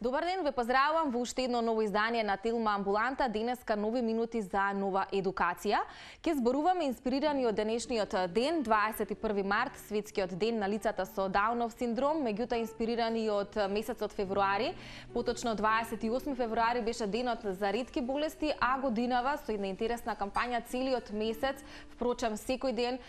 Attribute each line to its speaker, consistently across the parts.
Speaker 1: Добар ден, ве поздравувам во уште едно ново издание на Телма Амбуланта. Денеска нови минути за нова едукација. Ке зборуваме инспирирани од денешниот ден, 21 март, светскиот ден на лицата со Даунов синдром, меѓутоа инспирирани од месецот февруари. Поточно 28 февруари беше денот за ретки болести, а годинава со една интересна кампања целиот месец, впрочем секој ден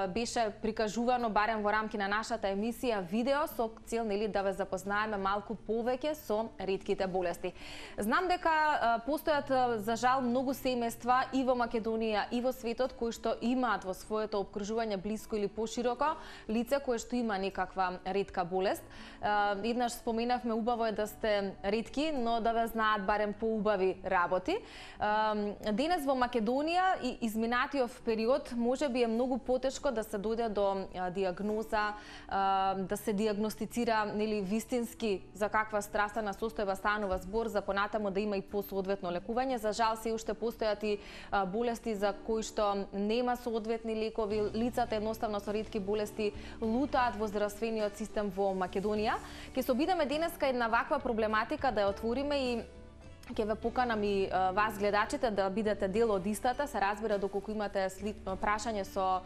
Speaker 1: беше прикажувано барем во рамки на нашата емисија видео со цел да ве запознаеме малку повеќе со ретките болести. Знам дека постојат за жал многу семејства и во Македонија и во светот кои што имаат во своето опкружување блиско или пошироко лице кое што има некаква ретка болест. Еднаш споменавме, убаво е да сте ретки, но да ве знаат барем поубави работи. Денес во Македонија и изминатиот период можеби е многу потешко да се дојде до диагноза, да се диагностицира вистински за каква здравствена состојба станува збор, за понатаму да има и посоодветно лекување. За жал се уште постојат и болести за кои што нема соодветни лекови. Лицата едноставно со ретки болести лутаат во здравствениот систем во Македонија. Ќе се обидеме денеска една ваква проблематика да ја отвориме и ќе ве поканам и вас гледачите да бидете дел од истата. Се разбира доколку имате прашање со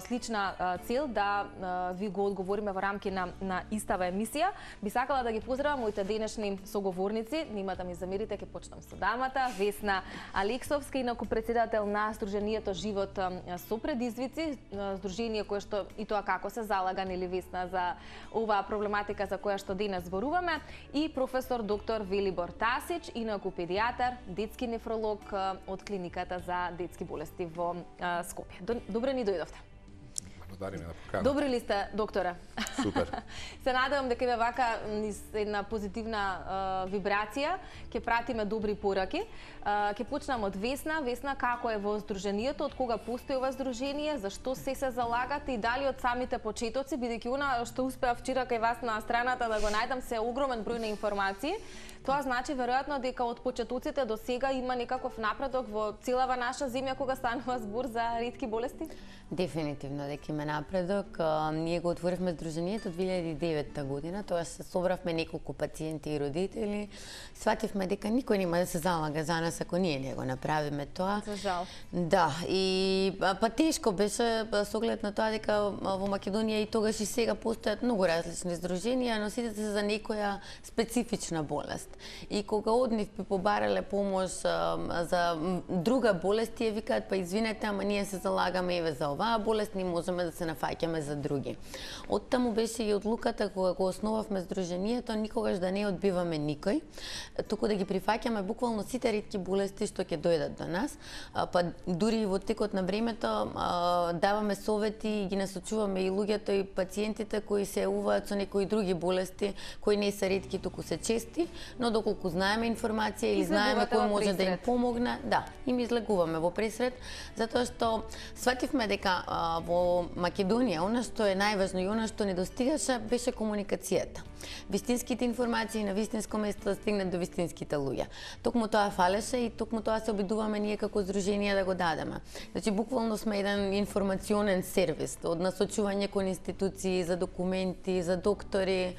Speaker 1: слична цел да ви го одговориме во рамки на истава емисија. Би сакала да ги поздравам моите денешни соговорници. Нема да ми замерите, ќе почнам со дамата Весна Алексовска, инаку председател на Сдруженијето Живот со предизвици, здружение кое што и тоа како се залага Весна за оваа проблематика за која што денес зборуваме, и професор доктор Велибор Тасич, инаку педијатар, детски нефролог од клиниката за детски болести во Скопје. Добре ни дојдовте.
Speaker 2: Благодариме на поканата.
Speaker 1: Добри ли сте, докторе?
Speaker 2: Супер.
Speaker 1: Се надевам дека ве вака низ една позитивна вибрација ќе пратиме добри пораки. Ќе почнам од Весна. Весна, како е во здруженијето, од кога постои ова здружение, зашто се залагате и дали од самите почетоци, бидејќи она што успеав вчера кај вас на страната да го најдам се огромен број на информации. Тоа значи веројатно дека од почетоците до сега има некаков напредок во целава наша земја кога станува збор за ретки болести?
Speaker 3: Дефинитивно дека има напредок. Ние го отворивме здруженијето 2009 година, тоа се собравме неколку пациенти и родители. Свативме дека никој нема да се залага за нас ако ние не го направиме тоа.
Speaker 1: За жал.
Speaker 3: Да, и па тешко беше со оглед на тоа дека во Македонија и тогаш и сега постојат многу различни здруженија, но сите се за некоја специфична болест. И кога од нив би побарале помош за друга болест, тие викаат па извинете, ама ние се залагаме еве за оваа болест, ние можеме да се нафаќаме за други. Оттаму беше и одлуката кога го основавме здруженијето, никогаш да не одбиваме никој, туку да ги прифаќаме буквално сите ретки болести што ќе дојдат до нас, па дури и во текот на времето даваме совети и ги насочуваме и луѓето и пациентите кои се јавуваат со некои други болести кои не се ретки, туку се чести, но доколку знаеме информација или знаеме кој може да им помогне, да, им излегуваме во пресред, затоа што свативме дека во Македонија она што е најважно и она што недостигаше беше комуникацијата. Вистинските информации на вистинско место да стигнат до вистинските луѓе. Токму тоа фалеше и токму тоа се обидуваме ние како здружение да го дадеме. Значи буквално сме еден информационен сервис од насочување кон институции за документи, за доктори,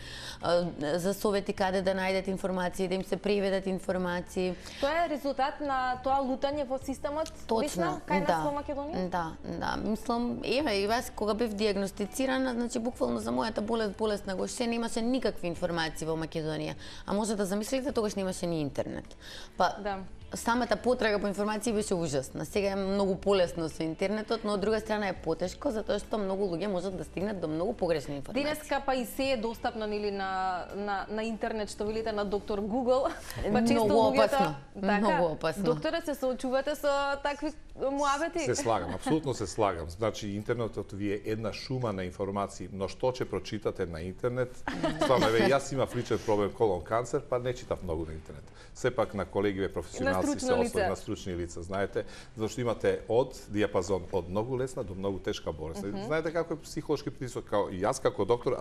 Speaker 3: за совети каде да најдат информации, да им се преведат информации.
Speaker 1: Тоа е резултат на тоа лутање во системот?
Speaker 3: Точно,
Speaker 1: кај нас во Македонија?
Speaker 3: Да, мислам, еве и вас кога бев диагностицирана, значи буквално за мојата болест на Гоше немаше никакви информации во Македонија. А може да замислите, тогаш немаше ни интернет. Па да. Самата потрага по информации беше ужасна. Сега е многу полесно со интернетот, но од друга страна е потешко затоа што многу луѓе можат да стигнат до многу погрешни информации.
Speaker 1: Денеска па и се е достапно на интернет, што велите на доктор Google. Па често
Speaker 3: многу
Speaker 1: луѓето
Speaker 3: опасно. Многу опасно.
Speaker 1: Докторе, се соочувате со такви муабети?
Speaker 2: Се слагам, апсолутно се слагам. Значи интернетот ви е една шума на информации, но што ќе прочитате на интернет? Стварно, јас имав личен проблем колон канцер, па не читав многу на интернет. Сепак на колегиве професионалци професионалци се ослони на стручни лица, знаете, зашто имате од диапазон од многу лесна до многу тешка болест. Знаете како е психолошки притисок, како и јас како доктор,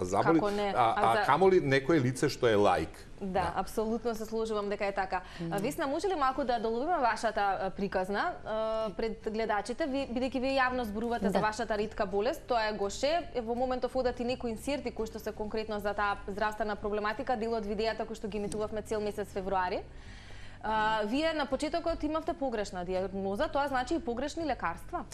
Speaker 2: камоли некое лице што е лаик.
Speaker 1: Да, апсолутно се сложувам дека е така. Весна, може ли малку да доловиме вашата приказна пред гледачите, бидејќи вие јавно зборувате за вашата ретка болест, тоа е Гоше, во моментов одат и некои инсерти кои што се конкретно за таа здравствена проблематика, дел од видеата кои што ги емитувавме цел месец февруари. Вие на почетокот имавте погрешна диагноза, тоа значи и погрешни лекарства?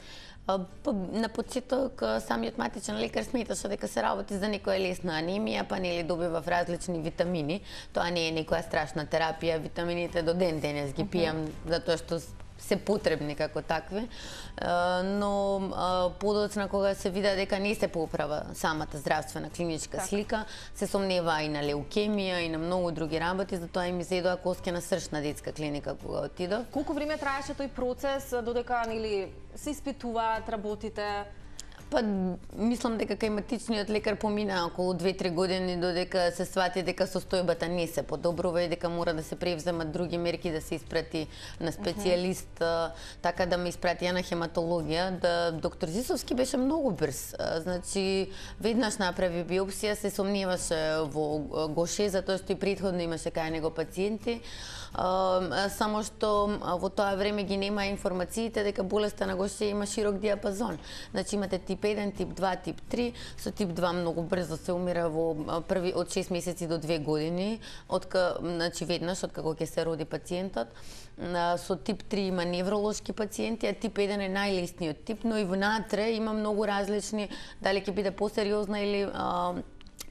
Speaker 3: На почеток самиот матичен лекар сметаше дека се работи за некоја лесна анемија, па нели добивав различни витамини. Тоа не е некоја страшна терапија, витамините до ден денес ги пијам затоа што се потребни како такви, но подоцна кога се вида дека не се поправа самата здравствена клиничка слика, се сомнева и на леукемија и на многу други работи, затоа и ми зедоа коскена срчна детска клиника кога отидов.
Speaker 1: Колку време траеше тој процес додека нели се испитуваат, работите?
Speaker 3: Па, мислам дека кај матичниот лекар помина околу 2-3 години додека се свати дека состојбата не се подобрува и дека мора да се превземат други мерки, да се испрати на специјалист, така да ме испрати на хематологија. Да, доктор Зисовски беше многу брз. Значи, веднаш направи биопсија, се сомневаше во Гоше, затоа што и претходно имаше кај него пациенти. Само што во тоа време ги нема информациите дека болеста на Гоше има широк диапазон. Значи, имате тип 1, тип 2, тип 3. Со тип 2 многу брзо се умира во први од 6 месеци до 2 години, значи веднаш од како ќе се роди пациентот. Со тип 3 има невролошки пациенти, а тип 1 е најлесниот тип, но и внатре има многу различни, дали ќе биде посериозна или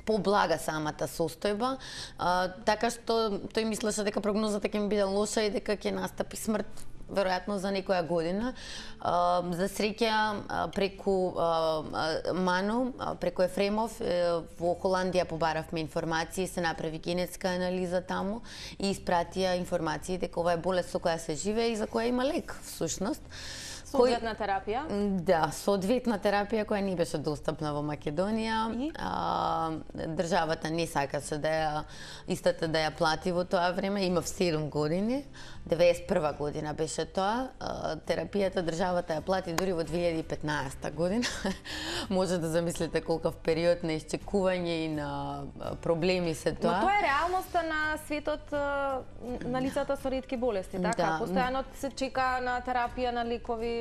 Speaker 3: поблага самата состојба, така што тој мислеше дека прогнозата ќе ми биде лоша и дека ќе настапи смрт веројатно за некоја година. За среќа преку МАНО, преку Ефремов, во Холандија побаравме информации, се направи генетска анализа таму и испратија информации дека ова е болест со која се живее и за која има лек всушност.
Speaker 1: Соодветна терапија?
Speaker 3: Да, соодветна терапија која не беше достапна во Македонија. Државата не сакаше да ја истата да ја плати во тоа време. Имав 7 години. 91 година беше тоа. Терапијата државата ја плати дури во 2015 година. Може да замислите колкав период на исчекување и на проблеми се тоа.
Speaker 1: Но тоа е реалноста на светот на лицата со ретки болести, така? Постојано се чека на терапија, на лекови.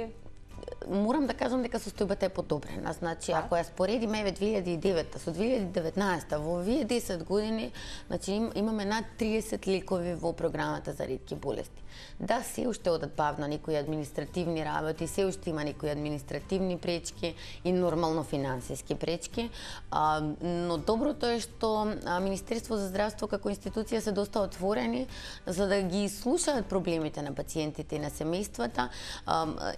Speaker 3: Морам да кажам дека состојбата е подобрена. Значи, ако ја споредиме 2009 со 2019, во овие 10 години, значи имаме над 30 лекови во програмата за ретки болести. Да, се уште одат бавно некои административни работи, се уште има некои административни пречки и нормално финансиски пречки, но доброто е што Министерство за здравство како институција се доста отворени за да ги слушаат проблемите на пациентите и на семејствата.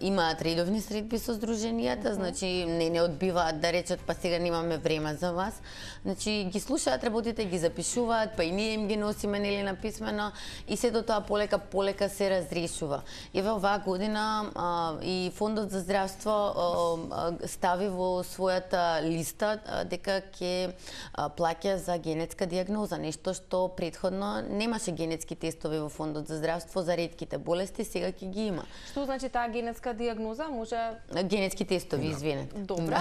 Speaker 3: Имаат редовни средби со здруженијата, значи не одбиваат да речат па сега немаме време за вас. Значи ги слушаат работите, ги запишуваат, па и ние им ги носиме нели на писмено и сето тоа полека се разрешува. Еве оваа година и Фондот за здравство стави во својата листа дека ќе плаќа за генетска диагноза, нешто што претходно немаше генетски тестови во Фондот за здравство за ретките болести, сега ќе ги има.
Speaker 1: Што значи таа генетска диагноза? Може
Speaker 3: генетски тестови, извинете.
Speaker 1: Добро.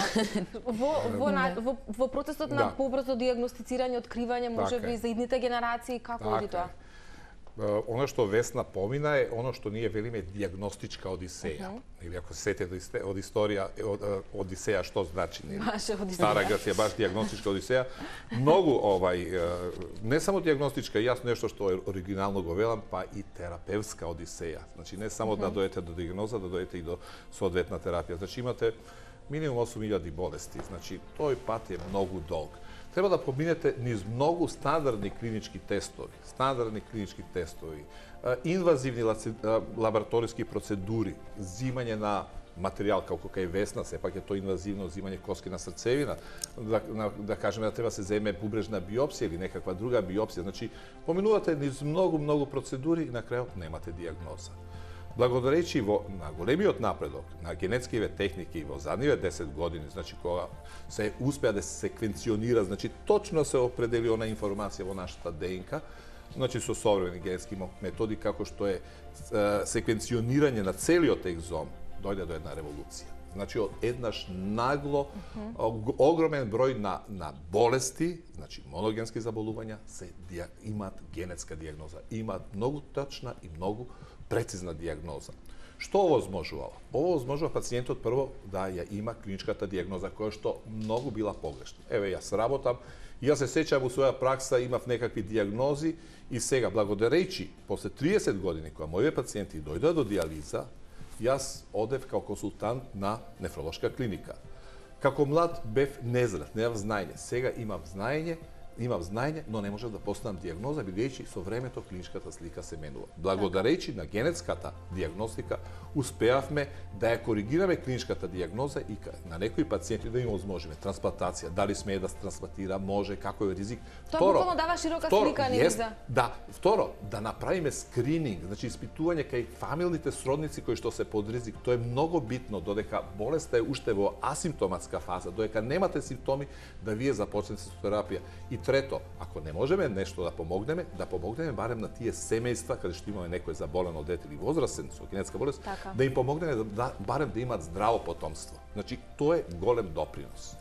Speaker 1: Во процесот на побрзо диагностицирање, откривање, можеби за идните генерации, како оди тоа?
Speaker 2: Оно што Весна помина е оно што ние велиме диагностичка одисеја. Или ако се сетите од историја одисеја што значи, нели? Стара Грција баш диагностичка одисеја. Многу не само диагностичка, јас нешто што оригинално го велам, па и терапевска одисеја. Значи не само да дојдете до диагноза, да дојдете и до соодветна терапија. Значи имате минимум 8000 болести. Значи тој пат е многу долг. Треба да поминете низ многу стандардни клинички тестови, инвазивни лабораториски процедури, зимање на материјал како кај Весна, сепак е тоа инвазивно зимање коскена срцевина, да кажеме да треба се земе бубрежна биопсија или некаква друга биопсија. Значи, поминувате низ многу процедури и на крајот немате диагноза. Благодарејќи на големиот напредок на генетскиве техники во задниве 10 години, значи кога се успеа да се секвенционира, значи точно се определи она информација во нашата ДНК, Значи со современи генетски методи како што е секвенционирање на целиот екзом, дојде до една револуција. Значи од еднаш нагло огромен број на болести, значи моногенски заболувања имаат генетска дијагноза, имаат многу точна и многу прецизна дијагноза. Што овозможувало? Овозможува пациентот прво да ја има клиничката дијагноза која што многу била погрешна. Еве јас работам, јас се сеќавам во своја пракса имав некакви дијагнози и сега благодарејќи после 30 години кога моите пациенти дојдоа до дијализа, јас одев као консултант на нефролошка клиника. Како млад бев незрат, немав знаење. Сега имам знаење, но не можев да поставам дијагноза, бидејќи со времето клиничката слика се менува. Благодарејќи на генетската дијагностика, успеавме да ја коригираме клиничката дијагноза и на некои пациенти да им возможиме трансплантација, дали смее да се трансплантира, може, како е ризик.
Speaker 1: Тоа буквално дава широка слика анилиза.
Speaker 2: Да, второ, да направиме скрининг, значи испитување кај фамилните сродници кои што се под ризик. Тоа е многу битно додека болеста е уште во асимптоматска фаза, додека немате симптоми да вие започнете со терапија. И трето, ако не можеме нешто да помогнеме барем на тие семејства каде што имаме некој заболено дете или возрастен со генетска болест, да им помогнеме барем да имаат здраво потомство. Значи, тоа е голем допринос.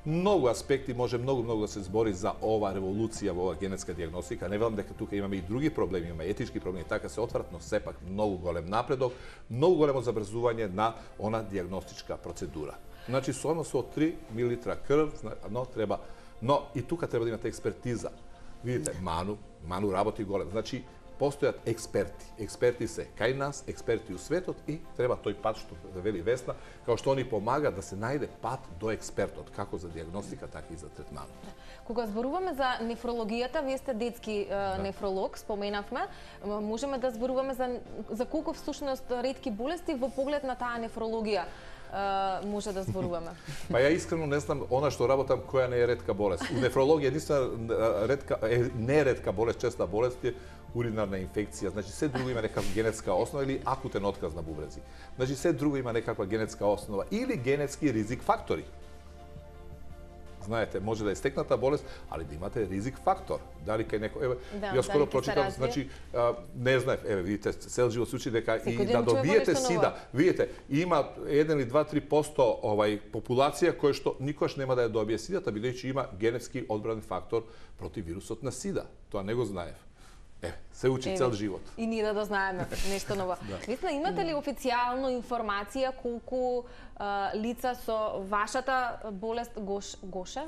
Speaker 2: Многу аспекти може многу да се збори за ова револуција во оваа генетска дијагностика. Не велам дека тука имаме и други проблеми, имаме етички проблеми, така се отварат, но сепак многу голем напредок, многу големо забрзување на она дијагностичка процедура. Значи, со 3 мл крв, но и тука треба да имате експертиза. Видите, Ману работи голем. Значи, постојат експерти. Експерти се кај нас, експерти у светот и треба тој пат што да вели Весна, као што они помага да се најде пат до експертот, како за дијагностика, така и за третманот.
Speaker 1: Кога зборуваме за нефрологијата, вие сте детски нефролог, споменавме, можеме да зборуваме за колку всушност ретки болести во поглед на таа нефрологија може да зборуваме?
Speaker 2: Па ја искрено не знам она што работам која не е ретка болест. У нефрологија единствена не ретка болест, честа болест е уринарна инфекција. Значи се друго има некаква генетска основа или акутен отказ на бубрези. Значи се друго има некаква генетска основа или генетски ризик фактори. Знаете, може да е стекната болест, али да имате ризик фактор. Дали кај некој, јас скоро прочитав, значи не знаев, видите, цел живот случај дека и да добиете сида, видите, има 1 или 2-3% популација која што никош нема да ја добие сидата, бидејќи има генетски одбранен фактор против вирусот на сида. Тоа не го знаев. Се учи цел живот.
Speaker 1: И ние да знаеме нешто ново. Весна, имате ли официјално информација колку лица со вашата болест Гоше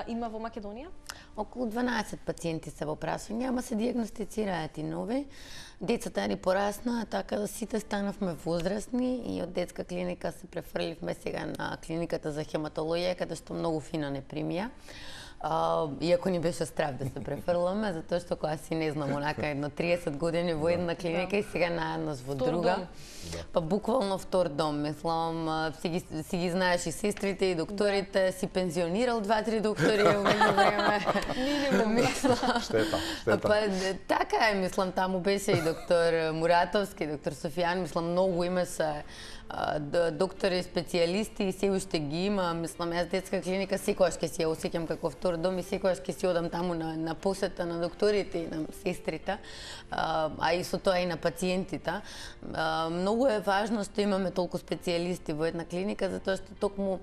Speaker 1: има во Македонија?
Speaker 3: Околу 12 пациенти се во прашање, ама се дијагностицираат и нови. Децата ни пораснаа, така да сите станавме возрастни и од детска клиника се префрливме сега на клиниката за хематологија, каде што многу фина не примија. Иако ни беше страв да се префрламе, затоа што кога си не знам, онака едно 30 години во една клиника и сега наеднаш во друга. Па буквално втор дом, мислам, си ги знаеш и сестрите и докторите, си пензионирал 2-3 доктори во време.
Speaker 1: Минимум.
Speaker 2: Штета.
Speaker 3: Па така е, мислам, таму беше и доктор Муратовски, доктор Софијан, мислам, многу имаше доктори, специјалисти и се уште ги има. Мислам, јас детска клиника секогаш ќе си ја осеќам како втор дом и секогаш ќе си одам таму на посета на докторите и на сестрите, а и со тоа и на пациентите. Многу е важно што имаме толку специјалисти во една клиника, затоа што токму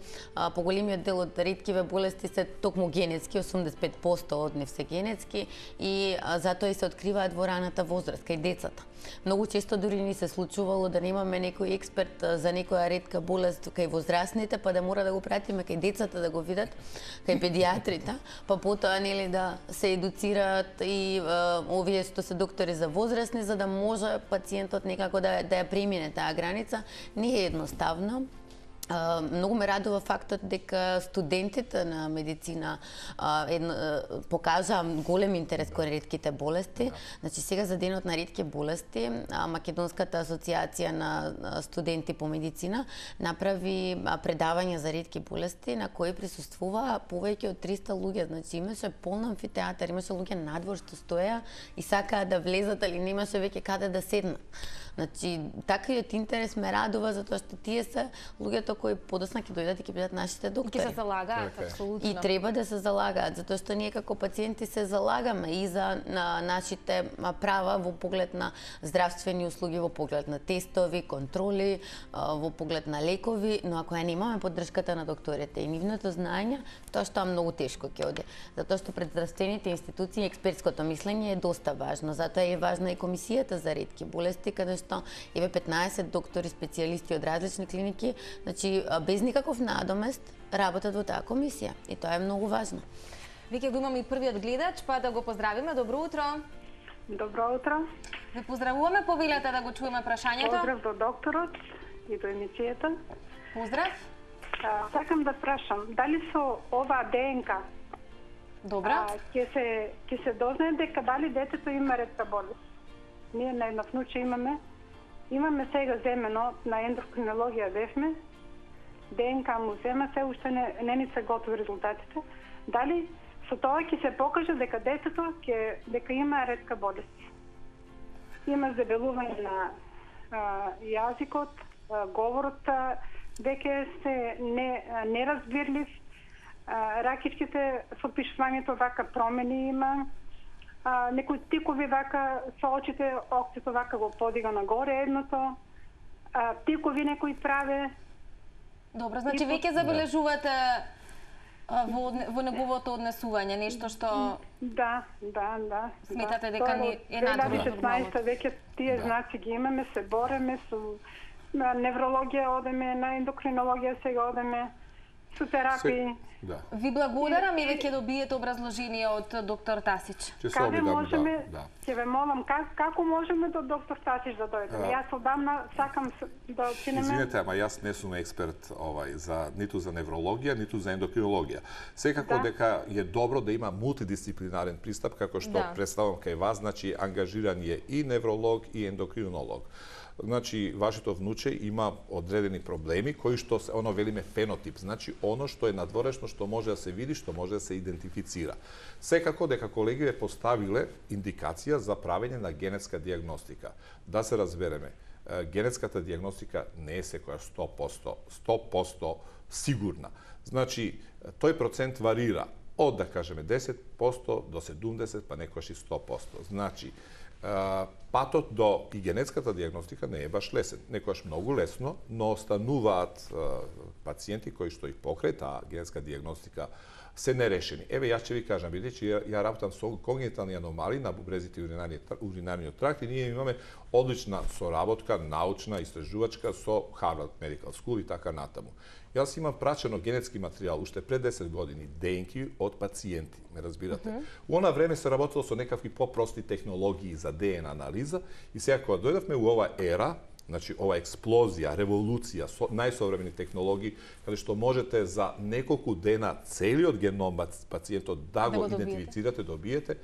Speaker 3: поголемиот дел од реткиве болести се токму генетски, 85% од нив се генетски и затоа и се откриваат во раната возраст кај децата. Многу често дури ни се случувало да немаме некој експерт за некоја ретка болест кај возрастните, па да мора да го пратиме кај децата да го видат, кај педиатрите, па потоа нели да се едуцираат и овие што се доктори за возрастни, за да може пациентот некако да ја премине таа граница. Не е едноставно. Многу ме радува фактот дека студентите на медицина покажаа голем интерес кон ретките болести. Значи сега за денот на ретки болести Македонската асоциација на студенти по медицина направи предавање за ретки болести на кои присуствуваа повеќе од 300 луѓе. Значи имаше полн амфитеатар, имаше луѓе надвор што стоеа и сакаа да влезат, али немаше веќе каде да седнат. Значи, таквиот интерес ме радува затоа што тие се луѓето кои подоцна ќе дојдат и ќе бидат нашите доктори.
Speaker 1: Ќе се залагаат, апсолутно.
Speaker 3: И треба да се залагаат, затоа што ние како пациенти се залагаме и за нашите права во поглед на здравствени услуги, во поглед на тестови, контроли, во поглед на лекови, но ако ја немаме поддршката на докторите и нивното знаење, тоа што е многу тешко ќе оди. Затоа што пред здравствените институции експертското мислење е доста важно. Затоа е важна и комисијата за ретки болести, каде што еве 15 доктори специјалисти од различни клиники, значи без никаков надомест работат во таа комисија и тоа е многу важно.
Speaker 1: Веќе го имаме и првиот гледач, па да го поздравиме. Добро утро.
Speaker 4: Добро утро.
Speaker 1: Ве поздравуваме, повелете да го чуеме прашањето.
Speaker 4: Поздрав до докторот и до емисијата.
Speaker 1: Поздрав.
Speaker 4: Сакам да прашам, дали со ова ДНК
Speaker 1: Добра.
Speaker 4: ќе се дознае дека дали детето има ретка болест? Ние на едно внуче имаме сега земено на ендокринологија бевме, ДНК му зема, се уште не ни се готови резултатите. Дали со тоа ќе се покаже дека детето дека има ретка болест? Има забелување на јазикот, говорот веќе се неразбирлив, ракичките со пишувањето вака промени има, некои тикови вака со очите, окцето вака го подига нагоре едното, тикови некои праве.
Speaker 1: Добро, значи веќе забележувате во неговото однесување, нешто што...
Speaker 4: Да.
Speaker 1: Сметате дека не е надвор од нормалното.
Speaker 4: 2016 веќе тие знаци ги имаме, се бореме со неврологија одеме, на ендокринологија сега одеме, со терапии.
Speaker 1: Ви благодарам и веќе добиете образложение од доктор Тасич.
Speaker 4: Каде можеме, ќе ве молам, како можеме до доктор Тасич да дојдеме? Јас одамна сакам да отидеме.
Speaker 2: Извинете, ама јас не сум експерт ниту за неврологија, ниту за ендокринологија. Секако дека е добро да има мултидисциплинарен пристап, како што представам кај вас, значи ангажиран е и невролог и ендокринолог. Значи, вашето внуче има одредени проблеми кои што се, велиме фенотип, значи оно што е надворешно, што може да се види, што може да се идентифицира. Секако дека колегите поставиле индикација за правење на генетска диагностика. Да се разбереме, генетската диагностика не е секоја 100% сигурна. Значи, тој процент варира од, да кажеме, 10% до 70%, па некојаш и 100%. Значи, патот до и генетската диагностика не е баш лесен. Некојаш многу лесно, но остануваат пациенти кои што и покрај таа генетска диагностика се нерешени. Еве, јас ќе ви кажам, бидејќи ја работам со когнитивни аномалии на бубрезите и уринариниот тракт и ние имаме одлична соработка, научна, истражувачка со Harvard Medical School и така натаму. Јас имам прачено генетски материјал уште пред 10 години, ДНК од пациенти, ме разбирате. У она време се работело со некакви попрости технологии за ДНК анализа и сега кога дојдовме у ова ера, значи ова експлозија, револуција, најсовремени технологии, каде што можете за неколку дена целиот геном пациентот да го идентифицирате, добиете,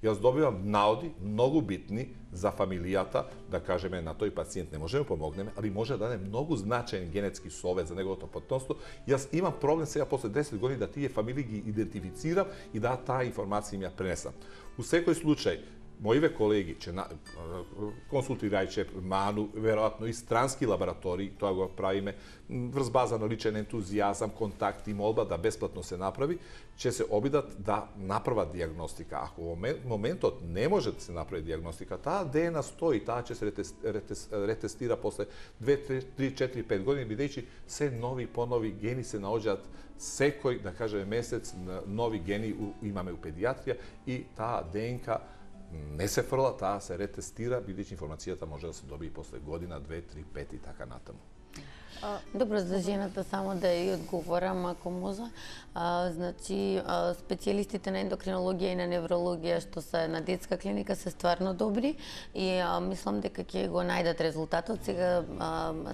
Speaker 2: јас добивам наоди многу битни за фамилијата, да кажеме на тој пациент не можеме помогнеме, али може да даде многу значаен генетски совет за неговото потомство. Јас имам проблем сега после 10 години да тие фамилии ги идентифицирам и да таа информација ми ја пренесам. У секој случај, моиве колеги, консултирајќи Ману, веројатно и странски лаборатории, тоа го правиме врз база на личен ентузијазам, контакт и молба да бесплатно се направи, ќе се обидат да направат диагностика. Ако во моментот не може да се направи диагностика, таа ДНК стои, таа ќе се ретестира после 2, 3, 4, 5 години, бидејќи се нови понови гени се наоѓаат секој, да кажеме, месец нови гени имаме у педиатрија и таа ДНК не се фрла, таа се ретестира, бидејќи информацијата може да се добие после година, 2, 3, 5 и така натаму.
Speaker 3: Добро, за жената само да ја одговорам, ако може. Значи, специјалистите на ендокринологија и на неврологија што се на детска клиника се стварно добри и мислам дека ќе го најдат резултатот. Сега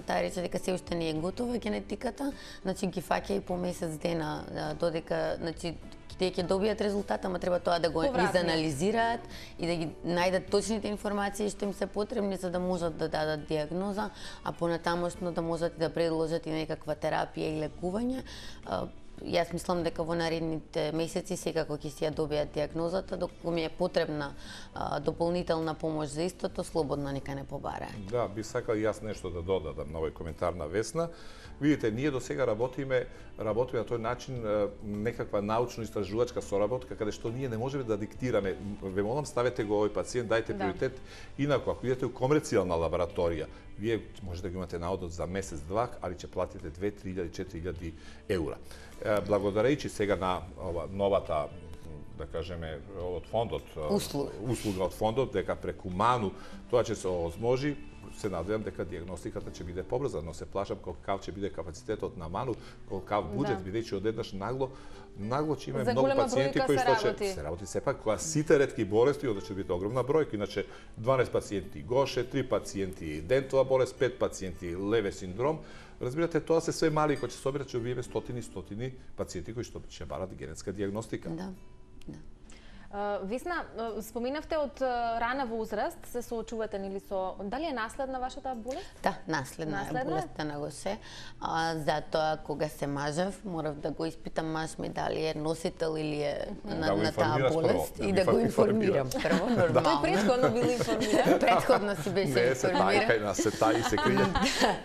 Speaker 3: таа рече дека се уште не е готова генетиката, значи ги фаќа и по месец дена додека, значи тие ќе добијат резултат, ама треба тоа да го изанализираат и да ги најдат точните информации што им се потребни за да можат да дадат диагноза, а понатамошно да можат да предложат и некаква терапија и лекување. јас мислам дека во наредните месеци секако ќе си ја добијат диагнозата, доколку ми е потребна дополнителна помош за истото, слободно нека не побараат.
Speaker 2: Да, би сакал јас нешто да додадам на овој коментар на Весна. Видите, ние до сега работиме на тој начин некаква научно-истражувачка соработка, каде што ние не можеме да диктираме. Ве молам, ставете го овој пациент, дајте приоритет. Инаку, ако идете у комерцијална лабораторија, вие можете да го имате наодот за месец-два, али ќе платите 2.000-4.000 евра. Благодарејќи сега на новата, да кажеме, од фондот, услуга од фондот, дека преку МАНУ тоа ќе се овозможи, се надевам дека диагностиката ќе биде побрза, но се плашам колкав ќе биде капацитетот на МАНУ, колкав буџет, бидејќи одеднаш нагло ќе имаме многу пациенти кои што ќе се работи сепак, кога сите ретки болести, onda ќе биде огромна бројка, иначе 12 пациенти Гоше, 3 пациенти дентова болест, 5 пациенти леве синдром. Разбирате, тоа се све мали кои ќе се соберат, ќе убиеме стотини пациенти кои што ќе барат генетска диагностика.
Speaker 3: Да.
Speaker 1: Весна, споменавте од рана возраст се соочувате нели со дали е наследна вашата болест?
Speaker 3: Да, наследна е болестта на Гоше. Затоа кога се мажев, морав да го испитам маж ми дали е носител или е на таа болест и да го информирам прво нормално.
Speaker 1: Тој претходно бил информиран.
Speaker 3: Претходно си беше информиран.
Speaker 2: Не, кај нас се таи се крие.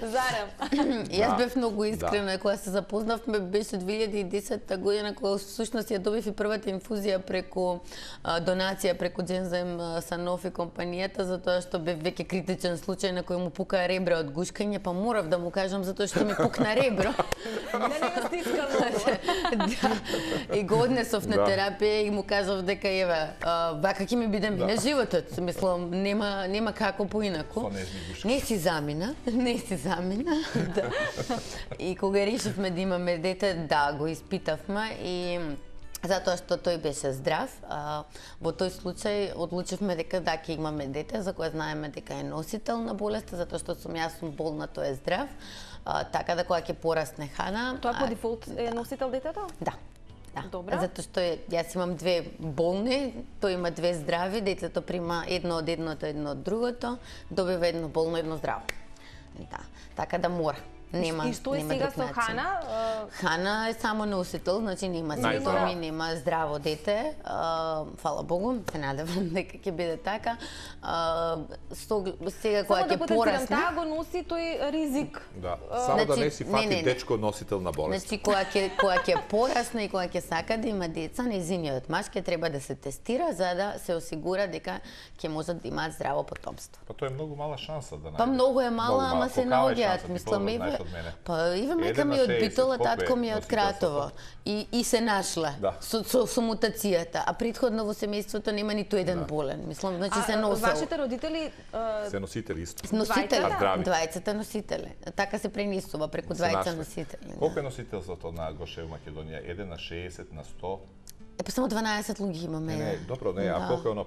Speaker 1: Зарем.
Speaker 3: Јас бев многу искрена кога се запознавме, беше 2010 година кога всушност ја добив и првата инфузија преку донација преку Джензем Санофи компанијата, затоа што бев веќе критичен случај на кој му пука ребро од гушкање, па морав да му кажам затоа што ми пукна ребро.
Speaker 1: Не го стиска многу.
Speaker 3: И го однесов на терапија и му кажав дека еве, вака ќе ми биде мине животот. Мислам, нема како поинаку. Не си замина. Да. И кога решивме да имаме дете, да, го испитавме и затоа што тој беше здрав. Во тој случај одлучивме дека да ќе имаме дете, за кое знаеме дека е носител на болеста, затоа што јас сум болна, тој е здрав. Така да кога ќе порасне Хана...
Speaker 1: Тоа по дефолт е носител детето?
Speaker 3: Да.
Speaker 1: Добра.
Speaker 3: Затоа што јас имам две болни, тој има две здрави, детето прима едно од едното, едно од другото, добива едно болно, едно здраво. Да. Така да мора. Нема,
Speaker 1: и што е сега со Хана?
Speaker 3: Хана е само носител, значи нема симптоми, нема здраво дете. Фала Богу, се надевам дека ќе биде така. Сега кога ќе порасне...
Speaker 1: Таа го носи тој ризик.
Speaker 2: Да, само да не си фати дечко носител на болест.
Speaker 3: Значи кога ќе порасне и кога ќе сака да има деца, нејзиниот маж ќе треба да се тестира за да се осигура дека ќе можат да имаат здраво потомство.
Speaker 2: Па тоа е многу мала шанса да најде.
Speaker 3: Па многу е мала, ама се наоѓаат, мислам, па Ива мајка ми од Битола, татко ми е од Кратово и се нашла со мутацијата, а претходно во семејството нема ниту еден болен. Мислам, значи се носел.
Speaker 1: Вашите родители
Speaker 2: се носители исто.
Speaker 3: Носители, двајцата носители. Така се пренесува преку двајца носители.
Speaker 2: Колку е носителството на Гоше во Македонија? 1 на 60 на 100?
Speaker 3: Па само 12 луѓе имаме.
Speaker 2: Не, добро, не, а колку е оно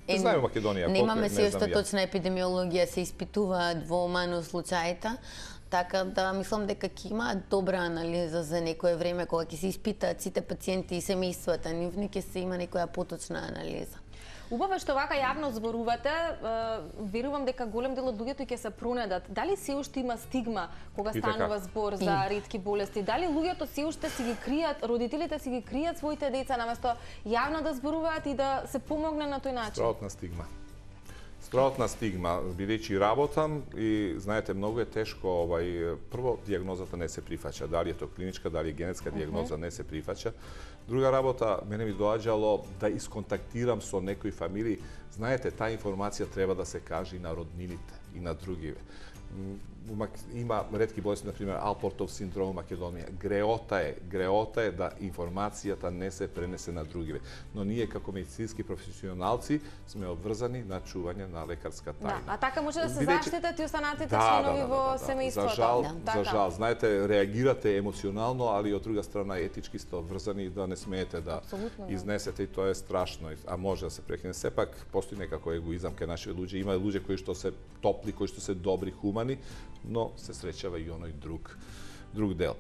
Speaker 2: не знаеме Македонија,
Speaker 3: немаме се уште точна епидемиологија, се испитуваат во МАНУ случаите. Така да мислам дека ќе има добра анализа за некое време кога ќе се испитаат сите пациенти и семејствата нивни, ќе се има некоја поточна анализа.
Speaker 1: Убаво што вака јавно зборувате, верувам дека голем дел од луѓето ќе се пронедат. Дали се уште има стигма кога станува збор за ретки болести? Дали луѓето се уште си ги кријат, родителите си ги кријат своите деца наместо јавно да зборуваат и да се помогне на тој начин?
Speaker 2: Стравотна стигма, бидејќи работам и знаете многу е тешко прво дијагнозата не се прифаќа, дали е тоа клиничка, дали е генетска дијагноза не се прифаќа. Друга работа, мене ми доаѓало да исконтактирам со некои фамилии. Знаете, таа информација треба да се каже и на роднините и на другиве. Има ретки болести, например, Алпортов синдром во Македонија. Греота е да информацијата не се пренесе на другиве. Но ние како медицински професионалци сме обврзани на чување на лекарска тајна.
Speaker 1: Да, а така може да се заштитат и останатите членови во семејството.
Speaker 2: За жал, знаете, реагирате емоционално, али од друга страна етички сте обврзани да не смеете да изнесете и тоа е страшно, а може да се прекине. Сепак постои некако егоизам кај нашите луѓе. Има луѓе кои што се топли, кои што се добри, хумани, но се среќава и оној друг дел.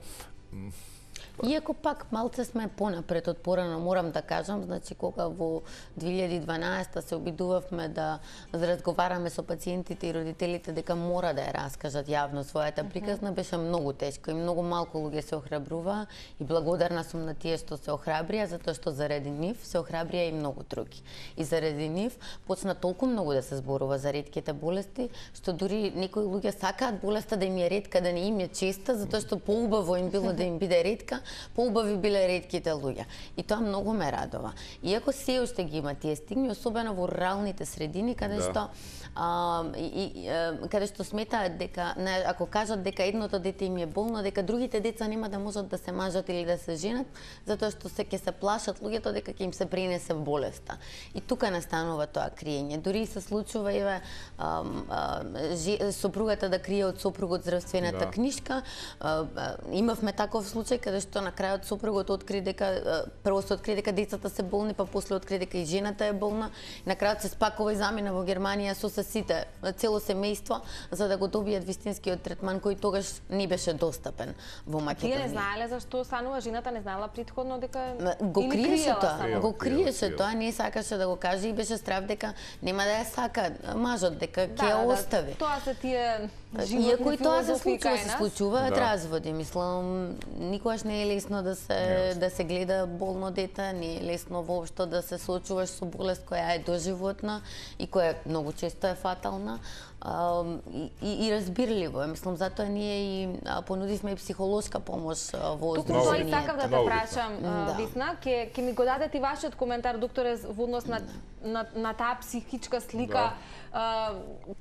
Speaker 3: Иако пак малце сме понапред од порано, морам да кажам, значи кога во 2012 се обидувавме да разговараме со пациентите и родителите дека мора да ја раскажат јавно својата приказна, беше многу тешко и многу малку луѓе се охрабрува и благодарна сум на тие што се охрабрија, затоа што заради нив се охрабрија и многу други. И заради нив почна толку многу да се зборува за ретките болести, што дури некои луѓе сакаат болеста да им е ретка, да не им е честа, затоа што поубаво им било да им биде ретка, поубави биле ретките луѓе. И тоа многу ме радува. Иако се уште ги има тие стигми, особено во руралните средини, каде што сметаат дека ако кажат дека едното дете им е болно, дека другите деца нема да можат да се мажат или да се женат, затоа што ќе се плашат луѓето дека ќе им се пренесе болеста. И тука настанува тоа криење. Дури се случува сопругата да крие од сопругот здравствената книшка. Имавме таков случај каде што на крајот сопругот откри дека прво се откри дека децата се болни, па после откри дека и жената е болна. На крајот се спакува и замина во Германија со сите, цело семејство, за да го добијат вистинскиот третман кој тогаш не беше достапен во Македонија.
Speaker 1: Тие не знаеле зашто станува, жената не знаела претходно дека
Speaker 3: го криеше тоа, го криеше тоа, не сакаше да го каже и беше страв дека нема да ја сака мажот, дека ќе ја остави.
Speaker 1: Тоа се тие животни
Speaker 3: иако и тоа се
Speaker 1: филозофии
Speaker 3: случуваат разводи, мислам, никогаш не е лесно да се гледа болно дете, не е лесно воопшто да се соочуваш со болест која е доживотна и која многу често е фатална. И разбирливо е, мислам, затоа ние и понудивме и психолошка помош во
Speaker 1: Туку
Speaker 3: здруженијето.
Speaker 1: тоа и сакав да те прашам, Весна, ќе ми го дадете и вашиот коментар, докторе, во однос на таа психичка слика,